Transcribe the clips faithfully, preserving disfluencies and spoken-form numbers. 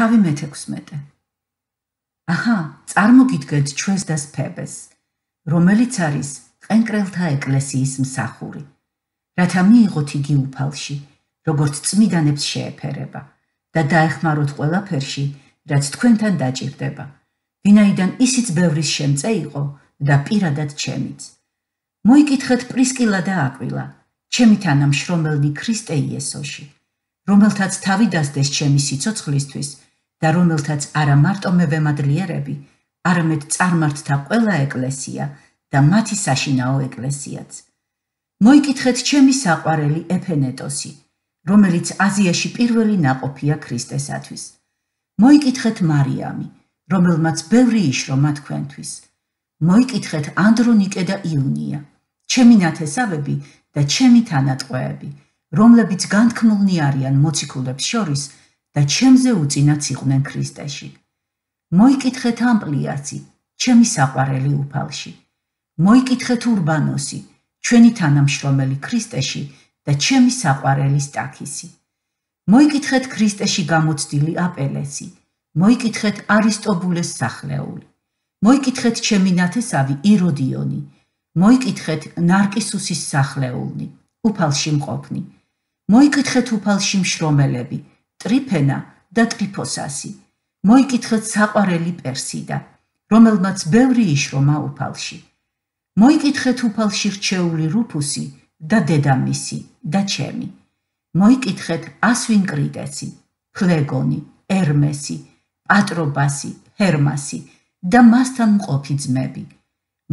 თავი მეთექვსმეტე. აჰა, წარმოგიდგეთ ჩვენს და სფებეს, რომელიც არის ყენკრელთა ეკლესიის მსახური, რათა მიიღოთ იგი უფალში, როგორც წმიდანებს შეეფერება და დაეხმაროთ ყველაფერში, რაც თქვენთან დაჭირდება, ვინაიდან ისიც ბევრის შემწე იყო და პირადად ჩემიც. მოიკითხეთ პრისკილა და აკვილა, ჩემი თანამშრომელნი ქრისტე იესოში, რომელთაც თავი დასდეს ჩემი სიცოცხლისთვის და რომელთაც არა მარტო მე ვემადლიერები, არამედ წარმართთა ყველა ეკლესია და მათი საშინაო ეკლესიაც. მოიკითხეთ ჩემი საყვარელი ეფენეტოსი, რომელიც აზიაში პირველი ნაყოფია ქრისტესათვის. მოიკითხეთ მარიამი, რომელმაც ბევრი იშრომა თქვენთვის. მოიკითხეთ ანდრონიკე და იუნია, ჩემი ნათესავები და ჩემი თანატყვეები, რომლებიც განთქმულნი არიან მოციქულებს შორის და ჩემზე უწინაც იყვნენ ქრისტეში. მოიკითხეთ ამპლიაცი, ჩემი საყვარელი უფალში. მოიკითხეთ ურბანოსი, ჩვენი თანამშრომელი ქრისტეში და ჩემი საყვარელი სტაქისი. მოიკითხეთ ქრისტეში გამოცდილი აპელესი, მოიკითხეთ არისტობულეს სახლეული. მოიკითხეთ ჩემი ნათესავი იროდიონი, მოიკითხეთ ნარკისუსის სახლეულნი, უფალში მყოფნი. მოიკითხეთ უფალში მშრომელები, ტრიფენა და ტრიფოსასი. მოიკითხეთ საყვარელი პერსიდა, რომელმაც ბევრი იშრომა უფალში. მოიკითხეთ უფალში რჩეული რუფუსი და დედამისი და ჩემი. მოიკითხეთ ასვინკრიტესი, ფლეგონი, ერმესი, პატრობასი, ჰერმასი და მასთან მყოფი ძმები.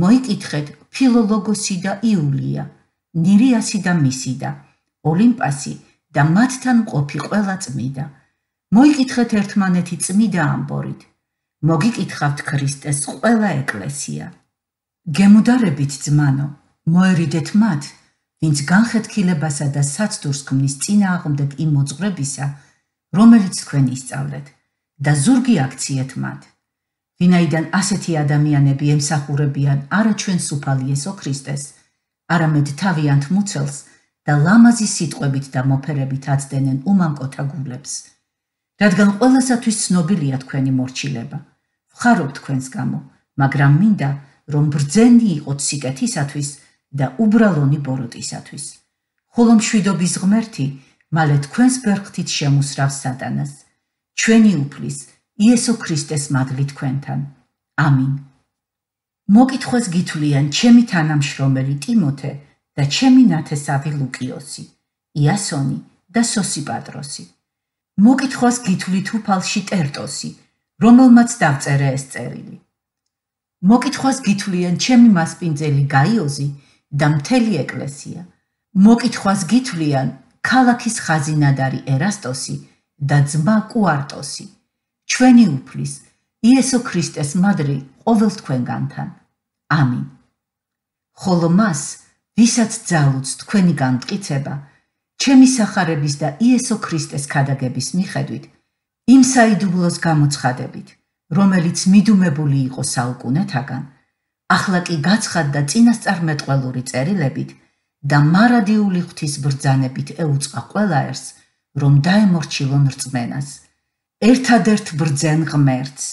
მოიკითხეთ ფილოლოგოსი და იულია, ნირიასი და მისიდა, ოლიმპასი და მათთან მყოფი ყველა წმიდა. მოიკითხეთ ერთმანეთი წმიდა ამბორით. მოგიკითხავთ ქრისტეს ყველა ეკლესია. გემუდარებით ძმანო, მოერიდეთ მათ, ვინც განხეთქილებასა და საცდურს ქმნის წინააღმდეგ იმ მოძღვრებისა, რომელიც თქვენ ისწავლეთ, და ზურგი აქციეთ მათ. ვინაიდან ასეთი ადამიანები ემსახურებიან არა ჩვენს უფალ იესო ქრისტეს, არამედ თავიანთ მუცელს და ლამაზი სიტყვებით და მოფერებით აცდენენ უმანკოთა გულებს. რადგან ყველასათვის ცნობილია თქვენი მორჩილება, ვხარობ თქვენს გამო, მაგრამ მინდა, რომ ბრძენი იყოთ სიკეთისათვის და უბრალონი ბოროტისათვის. ხოლო მშვიდობის ღმერთი მალე თქვენს ბერხთით შემუსრავს სატანას. ჩვენი უფლის, იესო ქრისტეს მადლი თქვენთან. ამინ. მოკითხვას გითვლიან ჩემი თანამშრომელი ტიმოთე და ჩემი ნათესავი ლუკიოსი, იასონი და სოსიპატროსი. მოკითხვას გითვლით უფალში ტერტოსი, რომელმაც დავწერე ეს წერილი. მოკითხვას გითვლიან ჩემი მასპინძელი გაიოზი და მთელი ეკლესია. მოკითხვას გითვლიან ქალაქის ხაზინადარი ერასტოსი და ძმა კუარტოსი. ჩვენი უფლის, იესო ქრისტეს მადლი ყოველ თქვენგანთან. ამინ. ხოლო მას, ვისაც ძალუძს თქვენი განმტკიცება, ჩემი სახარების და იესო ქრისტეს ქადაგების მიხედვით, იმ საიდუმლოს გამოცხადებით, რომელიც მიდუმებული იყო საუკუნეთაგან, ახლა კი გაცხადდა წინასწარმეტყველური წერილებით და მარადიული ღვთის ბრძანებით ეუწყა ყველა ერს, რომ დაემორჩილონ რწმენას. ერთადერთ ბრძენ ღმერთს,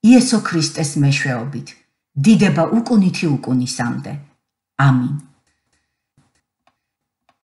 იესო ქრისტეს მეშვეობით, დიდება უკუნითი უკუნისამდე. ამინ.